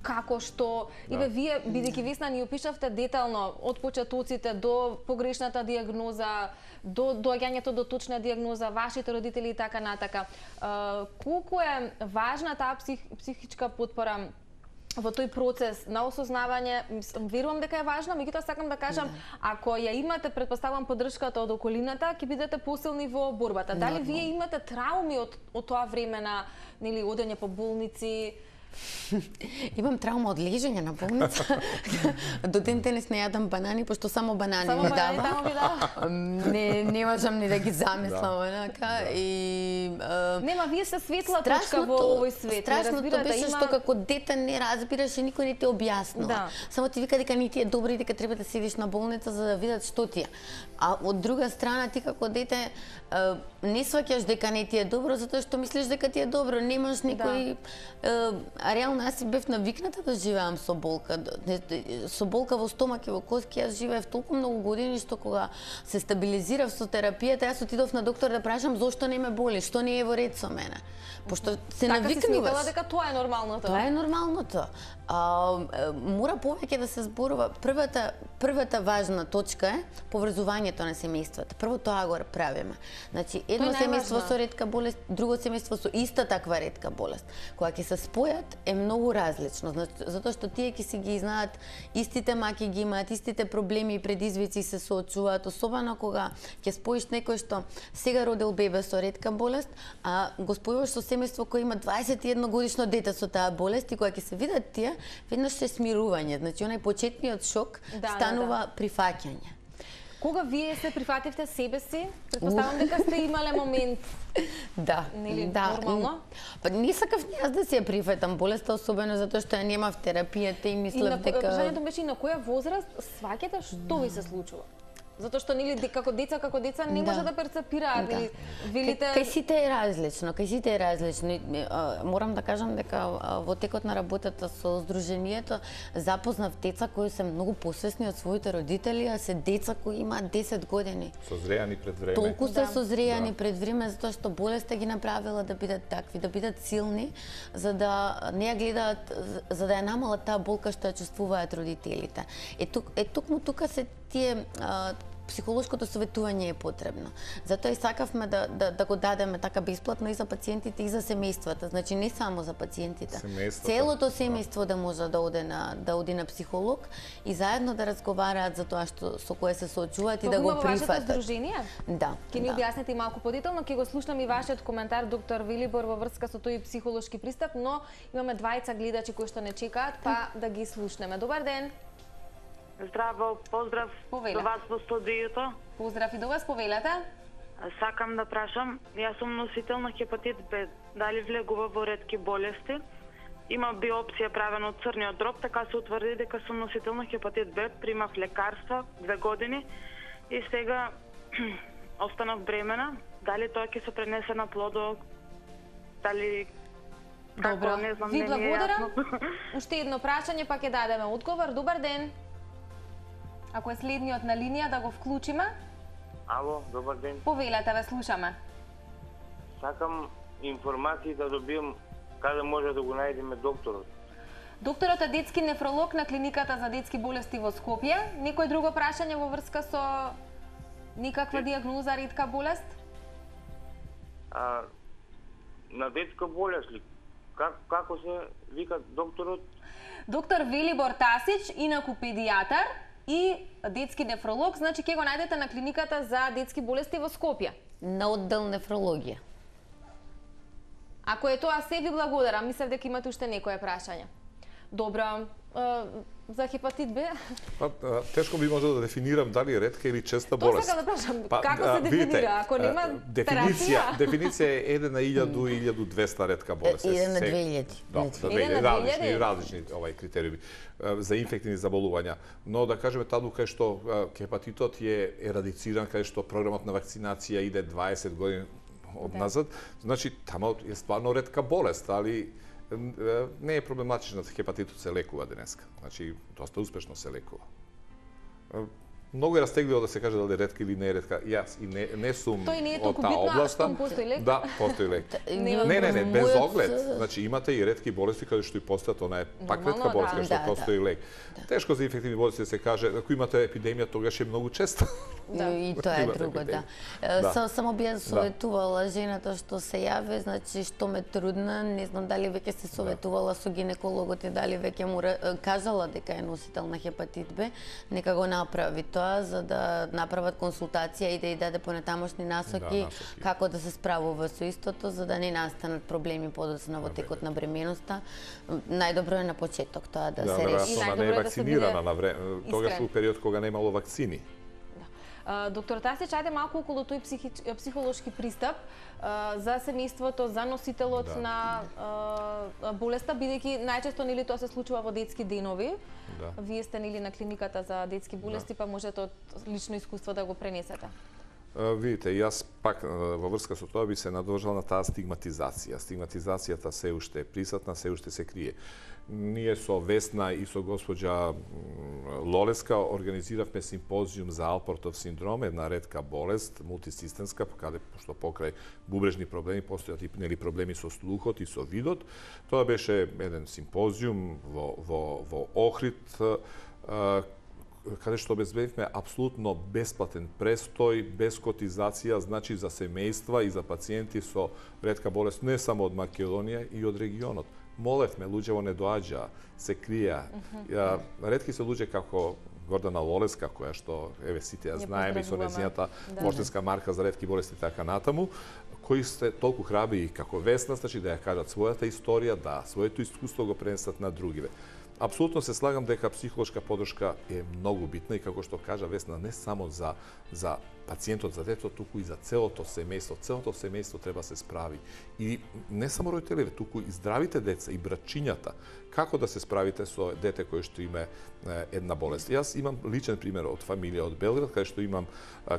Speaker 1: како што и вие бидејќи Весна ни опишавте детално од почетоците до погрешната дијагноза, до доаѓањето до точна дијагноза, вашите родители и така натака. Колку е важна таа психичка потпора во тој процес на осознавање? Верувам дека е важна, меѓутоа сакам да кажам, ако ја имате, предпоставам, поддршката од околината, ќе бидете посилни во борбата. Дали вие имате трауми од тоа време на одење по болници?
Speaker 3: Имам траума од лежење на болница. До ден денес не јадам банани, пошто само банани ми дава. Не можам ни да ги замислам онака.
Speaker 1: Нема, вие сте светла точка во овој свет.
Speaker 3: Страшното беше што како дете не разбираш и никој не ти објаснува. Само ти вика дека не ти е добро и дека треба да седиш на болница за да видат што ти е. А од друга страна ти како дете не сваќаш дека не ти е добро затоа што мислиш дека ти е добро, немаш никој реално јас си бев навикната да живеам со болка. Со болка во стомак и во коски јас живеев толку многу години што кога се стабилизирав со терапијата, јас отидов на доктор да прашам зошто не ме боли, што не е во ред со мене. Пошто се навикнуваш.
Speaker 1: Така си сметала дека тоа е нормалното.
Speaker 3: Тоа е нормалното. Мора повеќе да се зборува. Првата важна точка е поврзувањето на семејствата. Прво тоа го правиме. Значи, едно семејство со ретка болест, друго семејство со иста таква ретка болест. Кога ќе се спојат е многу различно, затоа што тие ќе си ги знаат истите маки, ги имаат истите проблеми и предизвици се соочуваат, особено кога ќе споиш некој што сега родил бебе со ретка болест, а го спојуваш со семејство кој има 21 годишно дете со таа болест и кога ќе се видат тие, веднаш се смирување, значи онај почетниот шок станува прифаќање.
Speaker 1: Кога вие се прифативте себе си, предпоставам дека сте имале момент. Нормално?
Speaker 3: Па не сакав јас да се ја прифатам болеста, особено затоа што ја немав терапијата и мислев дека...
Speaker 1: Прашањето беше и на која возраст сваќате што ви се случува? Затоа што како деца не може да перцепираат или велите...
Speaker 3: Кај сите е различно, Морам да кажам дека во текот на работата со здруженијето запознав деца кои се многу посвесни од своите родители, а се деца кои имаат 10 години.
Speaker 2: Созреани пред време.
Speaker 3: Толку се созреани пред време затоа што болеста ги направила да бидат такви, да бидат силни, за да не ја гледаат, за да ја намалат таа болка што ја чувствуваат родителите. Токму тука се тие психолошкото советување е потребно. Затоа и сакавме да го дадеме така бесплатно и за пациентите и за семејствата. Значи не само за пациентите. Целото семејство да може да оди на психолог и заедно да разговараат за тоа со кое се соочуваат и да го прифатат.
Speaker 1: Вашето здружение?
Speaker 3: Да.
Speaker 1: Ќе ни објасните малку подетално, ќе го слушнам и вашиот коментар, доктор Велибор, во врска со тој психолошки пристап, но имаме двајца гледачи кои што не чекаат, па да ги слушнеме. Добар ден.
Speaker 5: Здраво, поздрав до вас во студиото.
Speaker 1: Поздрав и до вас, повелете.
Speaker 5: Сакам да прашам, јас сум носител на хепатит Б, дали влегува во ретки болести? Има биопсија правена од црниот дроб, така се утврди дека сум носител на хепатит Б, примав лекарства 2 години и сега останав бремена. Дали тоа ќе се пренесе на плодот? Дали...
Speaker 1: Добро,
Speaker 5: не знам,
Speaker 1: ви
Speaker 5: не ми е
Speaker 1: благодарам.
Speaker 5: јасно.
Speaker 1: Уште едно прашање, па ќе дадеме одговор. Добар ден. Ако е следниот на линија, да го вклучиме.
Speaker 6: Ало, добар ден.
Speaker 1: Повелете, ве слушаме.
Speaker 6: Сакам информации да добијам каде може да го најдеме докторот.
Speaker 1: Докторот е детски нефролог на клиниката за детски болести во Скопје. Некој друго прашање во врска со никаква диагноза, ретка болест?
Speaker 6: На детска болест ли? Како се вика докторот?
Speaker 1: Доктор Велибор Тасич, инаку педијатар и детски нефролог, значи ќе го најдете на клиниката за детски болести во Скопје.
Speaker 3: На оддел нефрологија.
Speaker 1: Ако е тоа се, ви благодарам. Мислев дека имате уште некое прашање. Добро, за хепатит Б?
Speaker 2: Тешко би можел да дефинирам дали е ретка или честа
Speaker 1: Тоа
Speaker 2: болест.
Speaker 1: сакам да прашам, како се дефинира? Ако нема терапија?
Speaker 2: Дефиниција е 1 на 1000 и 1200 ретка болест.
Speaker 3: 1 на 2000.
Speaker 2: Различни критериуми за инфективни заболувања. Но да кажеме таму кај што хепатитот е ерадициран, кај што програмот на вакцинација иде 20 години одназад, значи таму е стварно ретка болест, али не е проблематично, хепатитот се лекува денеска. Значи, доста успешно се лекува. Многу е растегливо да се каже дали е ретка или не е ретка. Јас и не сум од таа област.
Speaker 1: Постои лек?
Speaker 2: Да, постои лек. Не, без оглед. Значи имате и ретки болести каде што и постојат, она е пак ретка болест каде што постои лек. Тешко за инфективни болести да се каже, ако имате епидемија, тогаш е многу често.
Speaker 3: И тоа е друго, да. Само би ја советувала жената што се јави, значи што ме трудна, не знам дали веќе се советувала со гинекологот и дали веќе му кажала дека е носител на хепатит Б, нека го направи тоа за да направат консултација и да ја даде понатамошни насоки како да се справува со истото, за да не настанат проблеми подоцна во текот на бременоста. Најдобро е на почеток тоа да се реши.
Speaker 2: Веројатно не е вакцинирана на време, тогаш у период кога немало вакцини.
Speaker 1: Доктор Тасич, ајде малку околу тој психолошки пристап за семејството, за носителот на болеста, бидејќи најчесто нели тоа се случува во детски денови. Вие сте нели на клиниката за детски болести, па можете од лично искуство да го пренесете.
Speaker 2: Видите, јас пак во врска со тоа би се надржал на таа стигматизација. Стигматизацијата се уште е присутна, се уште се крие. Ние со Весна и со госпоđа Лолеска организиравме симпозиум за Алпортов синдром, една ретка болест, мултисистемска, каде што покрај бубрежни проблеми постојат и нели проблеми со слухот и со видот. Тоа беше еден симпозиум во Охрид, каде што обезбедивме апсолутно бесплатен престој, без котизација, значи за семејства и за пациенти со ретка болест не само од Македонија и од регионот. Молевме, луѓево не доаѓа, се крија. Ретки се луѓе како Гордана Лолеска, која што, еве, сите ја знаеме, и со нејзината поштенска марка за ретки болести така натаму, кои сте толку храбри како Весна, значи да ја кажат својата историја, да своето искуство го пренесат на другиве. Апсолутно се слагам дека психолошка подршка е многу битна и како што кажа Весна, не само за пациентот, за детето, туку и за целото семејство. Целото семејство треба се справи. И не само родителите, туку и здравите деца, и брачињата. Како да се справите со дете кој што има една болест? Јас имам личен пример од фамилија од Белград,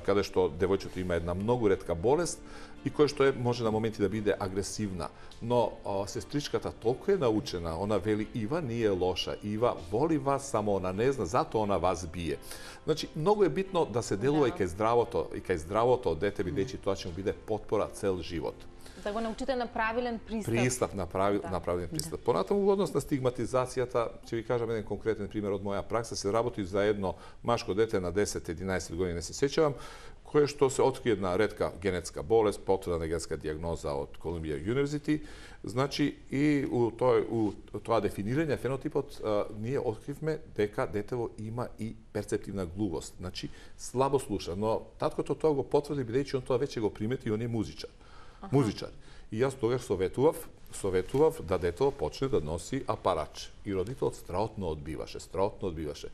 Speaker 2: каде што девојчето има една многу ретка болест и кој што може на моменти да биде агресивна. Но сестричката толку е научена, она вели: Ива не е лоша, Ива воли вас, само она не зна, затоа она вас бие. Значи, многу е битно да се делува и кај здравото дете, бидејќи тоа ќе му биде потпора цел живот.
Speaker 1: Да го научите на правилен пристап.
Speaker 2: На правилен пристап. Понатаму во однос на стигматизацијата, ќе ви кажам еден конкретен пример од моја пракса. Се работи за едно машко дете на 10-11 години, не се сеќавам, кое што се открие една ретка генетска болест, потврдена генетска дијагноза од Колумбија University. Значи, и у тоа дефинирање фенотипот, ние откривме дека детево има и перцептивна глувост. Значи, слабо слуша, но таткото тоа го потврди, бидејќи он тоа веќе го примети и он е музичар. И јас тогаш советував да детево почне да носи апарач. И родителот страотно одбиваше.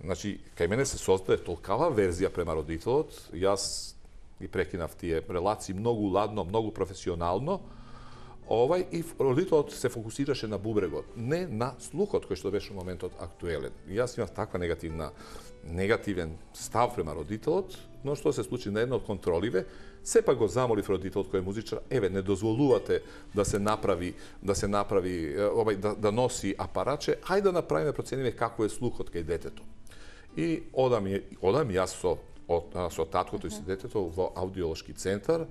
Speaker 2: Значи, кај мене се создаде толкава верзија према родителот, јас ги прекинав тие релации многу ладно, многу професионално, и родителот се фокусираше на бубрегот, не на слухот кој што беше во моментот актуелен. И јас имав таква негативен став према родителот, но што се случи на една од контроливе, сепак го замолив родителот кој е музичар, не дозволувате да се направи да носи апараче, ајде да направиме процениме како е слухот кај детето. И одам јас со таткото и со детето во аудиолошки центар,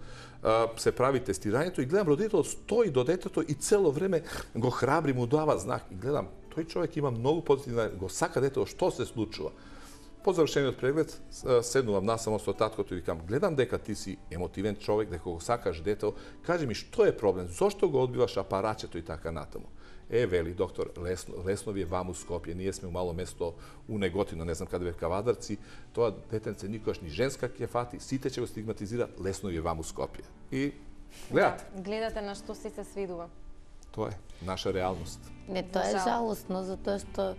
Speaker 2: се прави тестирањето и гледам родителот стои до детето и цело време го храбри, му дава знак и гледам тој човек има многу позитивна, го сака детето, што се случува. По завршениот преглед седнувам насамо со таткото и викам, гледам дека ти си емотивен човек, дека го сакаш детето, кажи ми што е проблем, зошто го одбиваш апарачето и така натаму. Вели доктор, лесно ви е ваму Скопје, ние сме у мало место у Неготино, не знам каде бе Кавадарци, тоа детенце никогаш ни женска ќе фати, сите ќе го стигматизираат, лесно ви е ваму Скопје. И гледате.
Speaker 1: Да, гледате на што си се свидува.
Speaker 2: Тоа е наша реалност.
Speaker 3: Не, тоа е жалостно, затоа што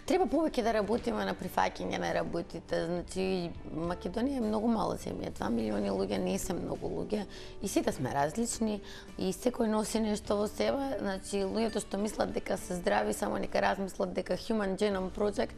Speaker 3: треба повеќе да работиме на прифаќање на работите. Значи, Македонија е многу мала земја, 2 милиони луѓе не се многу луѓе и сите сме различни и секој носи нешто во себе. Значи, луѓето што мислат дека се здрави, само нека размислат дека Human Genome Project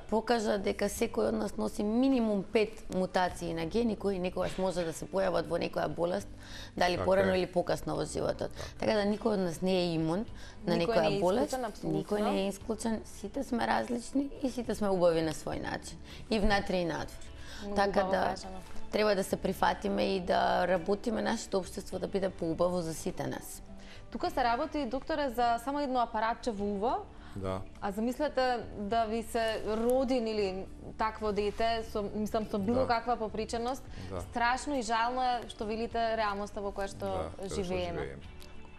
Speaker 3: покажа дека секој од нас носи минимум 5 мутации на гени кои некогаш може да се појават во некоја болест, дали порано или покасно во животот. Така да никој од нас не е имун на некоја болест, никој не е исклучен, сите сме различни и сите сме убави на свој начин, и внатре и надвор. Така да треба да се прифатиме и да работиме нашето општество да биде поубаво за сите нас.
Speaker 1: Тука се работи, докторе, за само едно апаратче во уво.
Speaker 2: Да.
Speaker 1: А замислете да ви се родин или такво дете, со било каква поприченост, страшно и жално е што велите реалноста во која што живееме.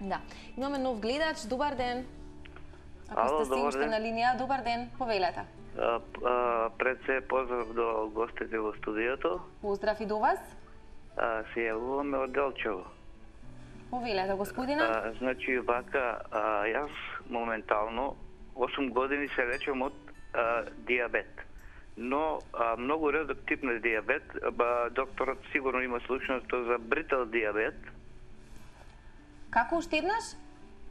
Speaker 1: Да. Имаме нов гледач, добар ден. Ако сте уште на линија, добар ден, повелете.
Speaker 7: Пред се поздрав до гостите во студиото.
Speaker 1: Поздрав и до вас.
Speaker 7: Се јавуваме од Делчево.
Speaker 1: Повелете, господина.
Speaker 7: Значи, вака, јас моментално 8 години се лечам од диабет. Но многу редок тип на диабет, докторот сигурно има случајност за бритал диабет.
Speaker 1: Како уште еднаш?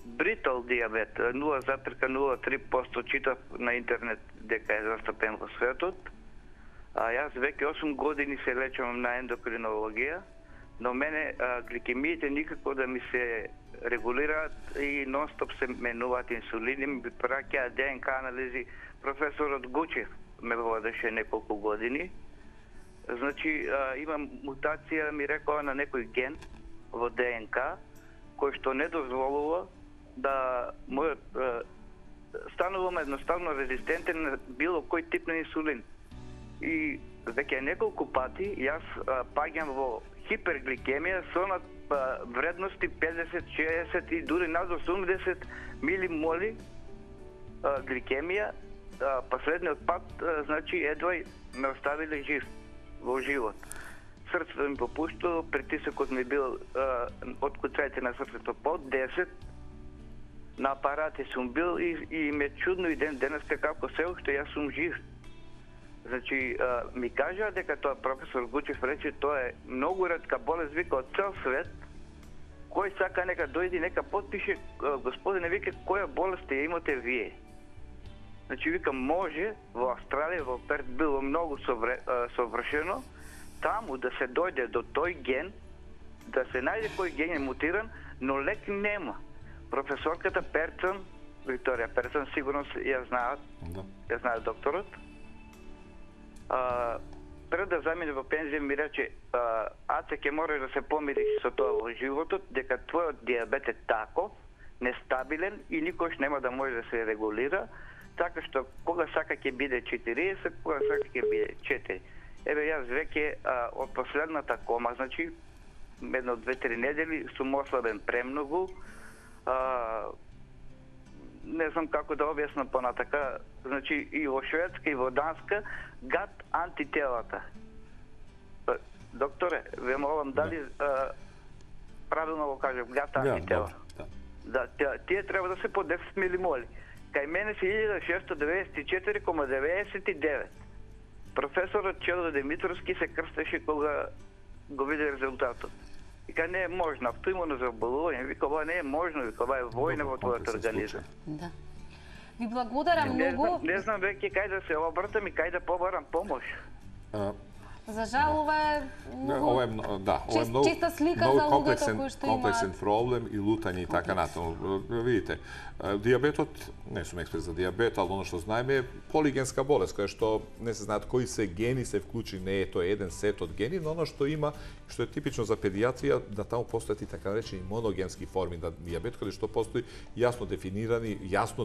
Speaker 7: Бритал диабет, 0,03% читав на интернет дека е застапен во светот. Јас веќе 8 години се лечам на ендокринологија, но мене гликемиите никако да ми се регулираат и нон-стоп се менуваат инсулини, ми праќаат ДНК анализи. Професорот Гучев ме водеше неколку години. Значи, имам мутација, ми рекоа, на некој ген во ДНК, кој што не дозволува да станувам едноставно резистентен на било кој тип на инсулин. И веќе неколку пати јас паѓам во хипергликемија со вредности 50, 60 и дури над 80 милимоли гликемија. Последниот пат, значи, едва ме оставиле жив во живот. Срцето ми попуштило, притисокот ми бил од куцајте на срцето под 10, на апарати сум бил и ме чудно и денеска како се уште јас сум жив. Значи, ми кажа дека тоа професор Гучев рече, тоа е многу ретка болест, вика, од цел свет, кој сака нека дојди, нека потпише, господине, вика, која болест ја имате вие. Значи, вика, може во Австралија, во Перт било многу совршено, таму да се дојде до тој ген, да се најде кој ген е мутиран, но лек нема. Професорката Перцон, Викторија Перцон, сигурно ја знаат, ја знае докторот. Пред да замине во пензија ми рече, Аце ќе мора да се помири со тоа во животот, дека твојот диабет е таков, нестабилен и никош нема да може да се регулира, така што кога сака ќе биде 40, кога сака ќе биде 4. Еве јас веќе од последната кома, значи едно 2-3 недели сум ослабен премногу. Не знам како да објаснам понатака, значи и во Шведска и во Данска гад антителата. Докторе, ве молам, дали правилно го кажам, гад антитела? Да, тие треба да се по 10 милимоли. кај мене се 1694,99. Професорот Чедо Димитровски се крстеше кога го виде резултатот. Вика, не е можно, автоимуно заболување. Вика, ова не е можно, вика, ова е војна во твојот организам.
Speaker 3: Да.
Speaker 1: Ви благодарам многу.
Speaker 7: Не знам веќе кај да се обртам и кај да побарам помош.
Speaker 1: За жал, ова е
Speaker 2: Ова е многу
Speaker 1: чиста слика за луѓето кои што
Speaker 2: комплексен
Speaker 1: имаат
Speaker 2: проблем и лутање и така натаму. Видите, дијабетот, не сум експерт за дијабет, али оно што знаеме е полигенска болест, која што не се знаат кои се гени се вклучи, не е тоа еден сет од гени, но оно што има, што е типично за педиатрија, да таму постојат и така наречени моногенски форми на дијабет, каде што постои јасно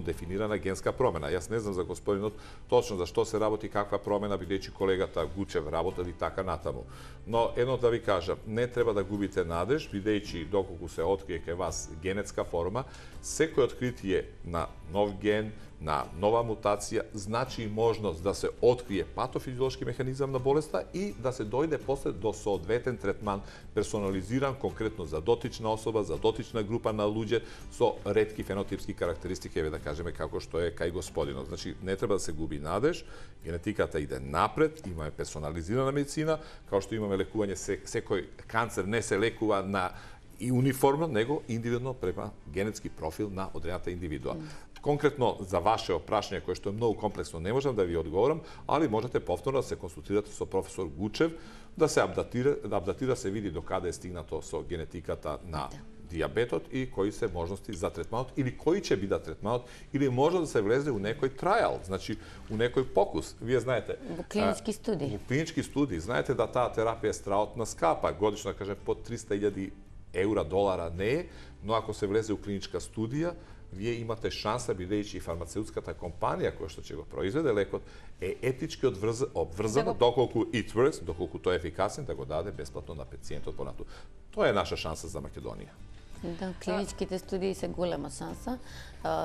Speaker 2: дефинирана генска промена. Јас не знам за господинот точно за што се работи, каква промена, бидејќи колегата Гучев работел и така натаму. Но едно да ви кажам, не треба да губите надеж, бидејќи доколку се открие кај вас генетска форма, секој откритие на нов ген, на нова мутација, значи и можност да се открие патофизиолошки механизам на болеста и да се дојде после до соодветен третман, персонализиран конкретно за дотична особа, за дотична група на луѓе со ретки фенотипски карактеристики, еве да кажеме како што е кај господинот. Значи, не треба да се губи надеж, генетиката иде напред, имаме персонализирана медицина, као што имаме лекување, секој канцер не се лекува на и униформно, него индивидуално према генетски профил на одредената индивидуа. Конкретно за ваше опрашање, кое што е многу комплексно, не можам да ви одговорам, али можете повторно да се консултирате со професор Гучев, да се апдатира, се види до каде е стигнато со генетиката на дијабетот и кои се можности за третманот или кои ќе бидат третманот или може да се влезе у некој трајал, значи у некој покус. Вие знаете,
Speaker 3: во клинички студии.
Speaker 2: Во клинички студии знаете да таа терапија е страотна скапа, годишно да кажем под 300.000 евра, долара не е, но ако се влезе у клиничка студија, вие имате шанса, бидејќи фармацеутската компанија која што ќе го произведе лекот е етички обврзана, доколку it works, доколку тој е ефикасен, да го даде бесплатно на пациентот понатаму. Тоа е наша шанса за Македонија.
Speaker 3: Да, клиничките студии се голема шанса.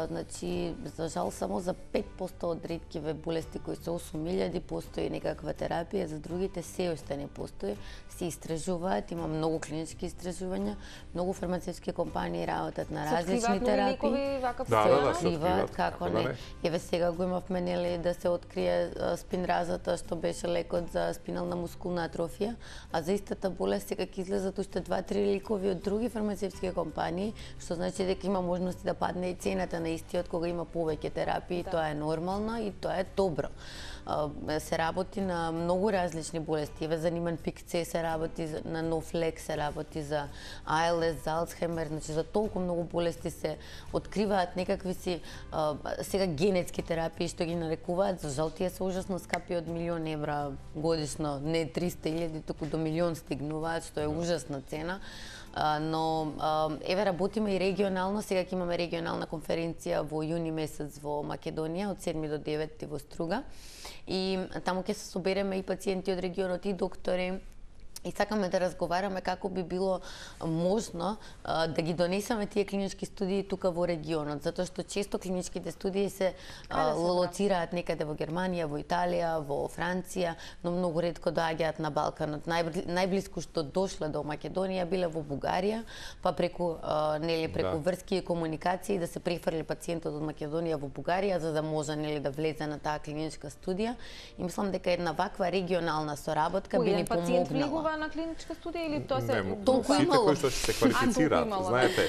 Speaker 3: Значи, за жал, само за 5% од реткиве болести кои се 8.000 постои некаква терапија, за другите се уште не постои. Се истражуваат, има многу клинички истражувања, многу фармацевтски компании работат на различни терапии.
Speaker 2: Се
Speaker 3: откриваат, како не. Еве сега го имавме нели да се открие спинразата, што беше лекот за спинална мускулна атрофија, а за истата болест сега ќе излезат уште 2-3 лекови од други фармацевтски компании, што значи дека има можности да падне и цената на истиот кога има повеќе терапии, тоа е нормално и тоа е добро. Се работи на многу различни болести. Еве за Ниман-Пик С се работи, на нов лек се работи за АЛС, за Алцхаймер, значи за толку многу болести се откриваат некакви си сега генетски терапии што ги налекуваат. За жал тие се ужасно скапи, од 1.000.000 евра годишно, не 300.000, туку до 1.000.000 стигнуваат, што е ужасна цена. Но еве работиме и регионално, сега ќе имаме регионална конференција во јуни месец во Македонија од 7 до 9 во Струга и таму ќе се собереме и пациенти од регионот и доктори. И сакаме да разговараме како би било можно да ги донесеме тие клинички студии тука во регионот, затоа што често клиничките студии се лоцираат некаде во Германија, во Италија, во Франција, но многу ретко доаѓаат на Балканот. Најблиску што дошле до Македонија биле во Бугарија, па преку врски и комуникации да се префрли пациентот од Македонија во Бугарија за да може да влезе на таа клиничка студија. И мислам дека една ваква регионална соработка би ни помогнала.
Speaker 1: На клиничка студија или тоа се
Speaker 2: сите кои што се квалифицираат, знаете,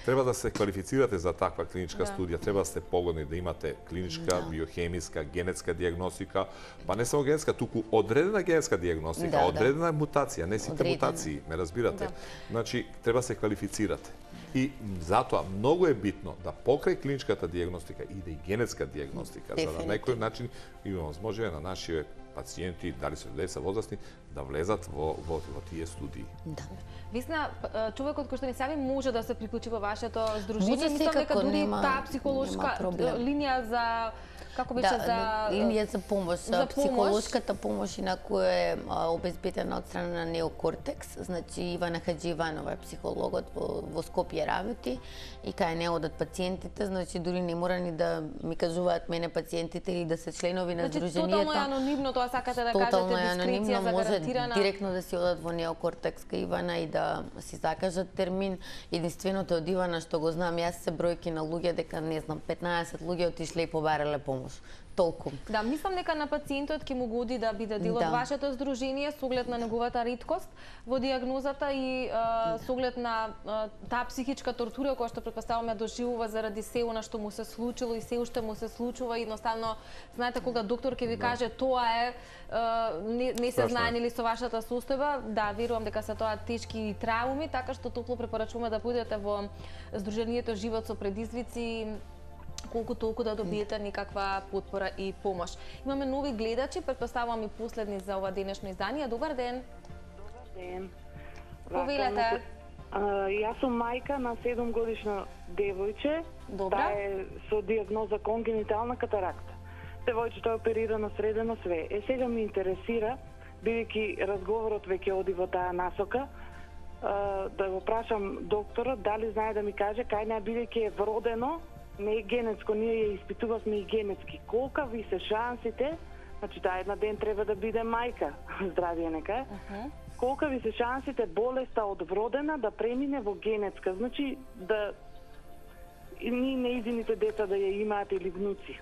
Speaker 2: треба да се квалифицирате за таква клиничка студија, треба да сте погодни да имате клиничка, биохемиска, генетска дијагностика, па не само генетска, туку одредена генетска дијагностика, одредена мутација, не сите мутации, ме разбирате. Значи, треба да се квалифицирате. И затоа многу е битно да покрај клиничката дијагностика иде и генетска дијагностика, за да на некој начин имаме возможност на нашите пациенти, дали се деца возрастни, да влезат во тие студии.
Speaker 3: Да.
Speaker 1: Висна, човекот кој што не сами може да се приклучи во вашето здружение, мислам дека дури таа психолошка линија за Како беше за
Speaker 3: линија за помош, психолошката помош инаку е обезбедена од страна на Неокортекс. Значи Ивана Хаџиеванова е психологот во Скопје работи и кај не одат пациентите, значи дури не мора ни да ми кажуваат мене пациентите или да се членови на здруженијата.
Speaker 1: Тотално е анонимно, тоа сакате да кажете, дискреција загарантирана.
Speaker 3: Може директно да си одат во Неокортекс кај Ивана и да си закажат термин. Единственото од Ивана што го знам јас се бројки на луѓе дека не знам 15 луѓе отишле и побарале помош. Толку.
Speaker 1: Да, мислам дека на пациентот ќе му годи да биде дел од вашето здружение со оглед на неговата риткост во дијагнозата и со оглед на таа психичка тортура која што претпоставуваме доживува заради се она што му се случило и се уште му се случува. Едноставно, знаете кога доктор ќе ви каже тоа е не се знае нели со вашата состојба, да, верувам дека се тоа тешки трауми, така што топло препорачуваме да бидете во здруженијето Живот со предизвици, колку толку да добиете некаква потпора и помош. Имаме нови гледачи, претпоставувам и последни за ова денешно издание. Добар ден.
Speaker 8: Добар ден.
Speaker 1: Повелете.
Speaker 8: Јас сум мајка на 7-годишно девојче.
Speaker 1: Добра.
Speaker 8: Таа е со дијагноза конгенитална катаракта. Девојчето е оперирано средено све. Сега ми интересира, бидејќи разговорот веќе оди во таа насока, да го прашам докторот дали знае да ми каже кај не бидејќи е вродено, не е генетско, ние ја испитувавме и генетски. Колка ви се шансите, значи таа една ден треба да биде мајка, здравие нека е, колка ви се шансите болеста од вродена да премине во генетска, значи да и неизините деца да ја имаат или внуци.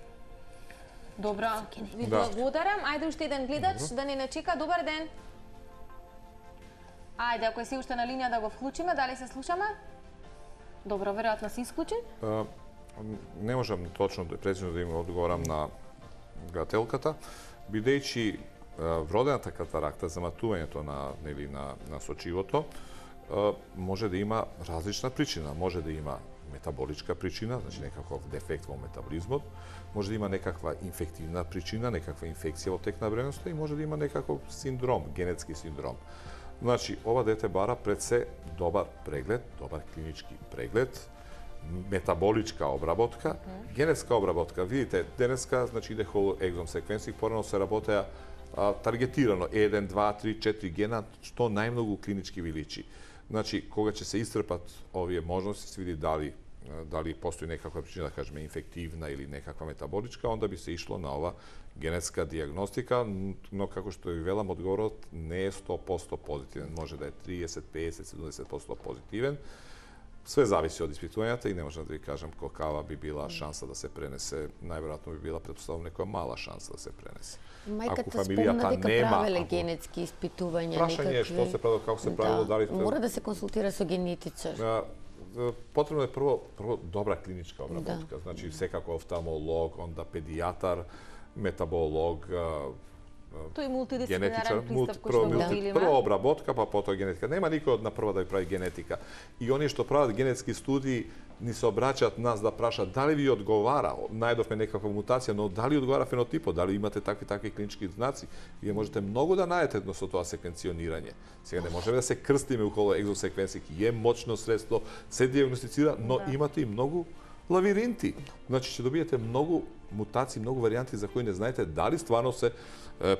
Speaker 1: Добро, ви благодарам. Ајде уште еден гледач да не чека. Добар ден. Ајде, ако е се уште на линија да го вклучиме, дали се слушаме? Добро, веројатно се исклучи.
Speaker 2: Не можам точно прецизно да им одговорам на гледателката, бидејќи вродената катаракта, заматувањето на сочивото, може да има различна причина. Може да има метаболичка причина, значи некаков дефект во метаболизмот, може да има некаква инфективна причина, некаква инфекција во тек на времеността и може да има некаков синдром, генетски синдром. Значи, ова дете бара пред се добар преглед, добар клинички преглед, метаболичка обработка, генетска обработка. Видите, денеска, значи иде whole exome sequencing, порано се работеа таргетирано 1, 2, 3, 4 гена, што најмногу клинички ви личи. Значи, кога ќе се истрпат овие можности, се види дали постои некаква причина, да кажеме, инфективна или некаква метаболичка, онда би се ишло на ова генетска дијагностика, но како што ви велам, одговорот не е 100% позитивен. Може да е 30, 50, 70% позитивен. Све зависи од испитувањата и не можам да ви кажам колкава би била шанса да се пренесе. Најверојатно би била претпоставувам некоја мала шанса да се пренесе.
Speaker 3: Мајката спомна дека правеле генетски испитувања.
Speaker 2: Прашање е што се правило, како се правило, дали
Speaker 3: мора да се консултира со генетичар.
Speaker 2: Потребно е прво добра клиничка обработка, значи секако офталмолог, онда педијатар, метаболог,
Speaker 1: тој мултидисциплинарен пристап кој што го видиме.
Speaker 2: Прво обработка, па потоа генетика. Нема никој од на прва да ви прави генетика. И оние што прават генетски студии ни се обраќаат нас да прашаат дали ви одговара, најдовме некаква мутација, но дали одговара фенотипот, дали имате такви клинички знаци. Вие можете многу да најдете со тоа секвенционирање. Сега не можеме да се крстиме околу екзом секвенсинг, е мочно средство, се дијагностицира, но имате и многу лавиринти. Значи ќе добиете многу мутации, многу варијанти за кои не знаете дали стварно се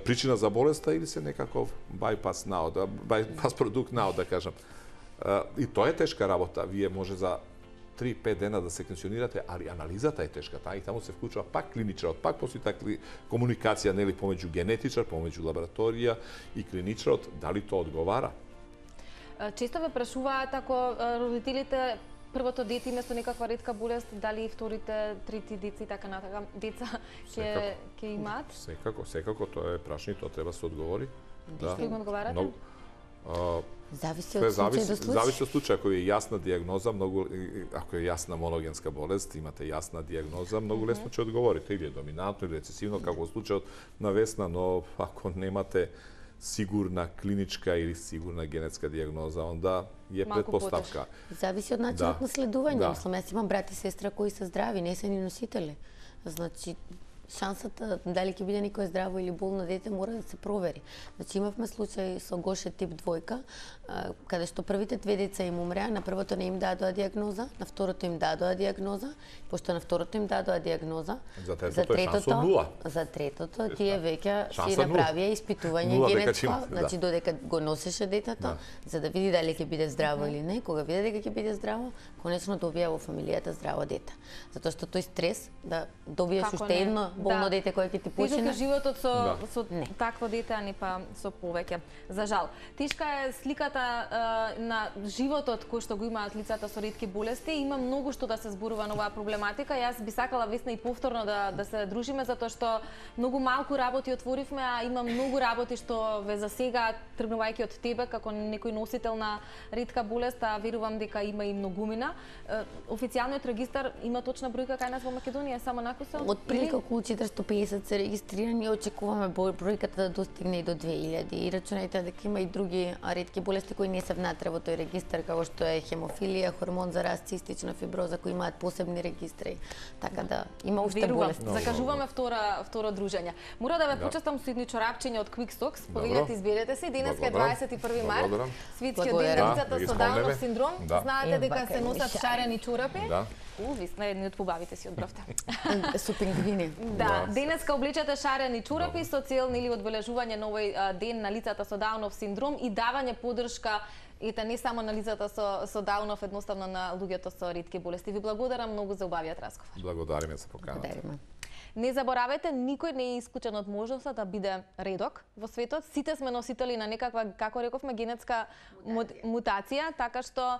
Speaker 2: причина за болеста или се некаков bypass продукт наод, да кажам. И тоа е тешка работа. Вие може за 3-5 дена да секвенционирате, али анализата е тешка. И таму се вклучува пак клиничарот, пак постои таква комуникација нели помеѓу генетичар, помеѓу лабораторија и клиничарот, дали тоа одговара.
Speaker 1: Често ве прашуваат ако родителите првото дете има со некаква ретка болест, дали и вторите, трети деца и така натака деца ќе имаат?
Speaker 2: Секако, тоа е прашање, тоа треба да се одговори.
Speaker 1: Да. Што им одговарате?
Speaker 3: Зависи од случај до случај.
Speaker 2: Зависи од случај, ако е јасна дијагноза, ако е јасна моногенска болест, имате јасна дијагноза, многу лесно ќе одговорите, или е доминантно, или рецесивно, како случајот на Весна, но ако немате сигурна клиничка или сигурна генетска дијагноза, онда е предпоставка.
Speaker 3: Зависи од начинот на следување. Мислам, јас имам брат и сестра кои се здрави, не се ни носители. Значи, шансата дали ќе биде некое здраво или болно дете мора да се провери. Значи имавме случај со Гоше тип 2, каде што првите 2 деца им умреа, на првото не им дадоа диагноза, на второто им дадоа диагноза, пошто на второто им дадоа диагноза,
Speaker 2: за третото
Speaker 3: тие веќе си направија испитување генетско, значи додека го носеше детето, за да види дали ќе биде здраво или не. Кога види дека ќе биде здраво, конечно добија во фамилијата здраво дете. Затоа што тој стрес да добиеш уште едно болно дете кое ќе ти почине.
Speaker 1: Животот со такво дете, а не па со повеќе. За жал. Тешка е сликата на животот кој што го имаат лицата со ретки болести. Има многу што да се зборува на оваа проблематика. Јас би сакала Весна и повторно да се дружиме, затоа што многу малку работи отворивме, а има многу работи што ве засегаат, тргнувајќи од тебе како некој носител на ретка болест, а верувам дека има и многумина. Официјалниот регистар има точна бројка кај нас во Македонија, само накуса?
Speaker 3: Отприлика околу 450 се регистрирани, очекуваме бројката да достигне и до 2000. И рачунајте дека има и други ретки болести кои не се внатре во тој регистар, како што е хемофилија, хормон за раст, цистична фиброза, кои имаат посебни регистри. Така да има уште болести.
Speaker 1: Закажуваме второ дружење. Мора да ве почестам со едни чорапчиња од Quick Stocks. Повелете, изберете се. Денеска е 21 март. Светскиот ден на лицата со Даунов синдром. Знаете дека се носат шарени чорапи? Висна едни од побавите си одбравте.
Speaker 3: Со пингвини.
Speaker 1: Да, денеска облечете шарени чорапи со цел нели одбележување на овој ден на лицата со Даунов синдром и давање поддршка не само на лицата со Даунов, едноставно на луѓето со ретки болести. Ви благодарам многу за убавиот разговор.
Speaker 2: Благодариме за поканата.
Speaker 1: Не заборавајте, никој не е исклучен од можноста да биде редок во светот. Сите сме носители на некаква, како рековме, генетска мутација, така што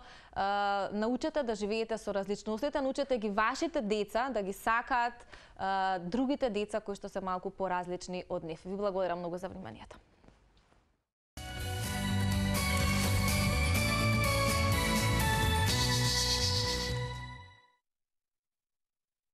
Speaker 1: научете да живеете со различностите, научете ги вашите деца да ги сакаат другите деца кои што се малку поразлични од нив. Ви благодарам многу за вниманието.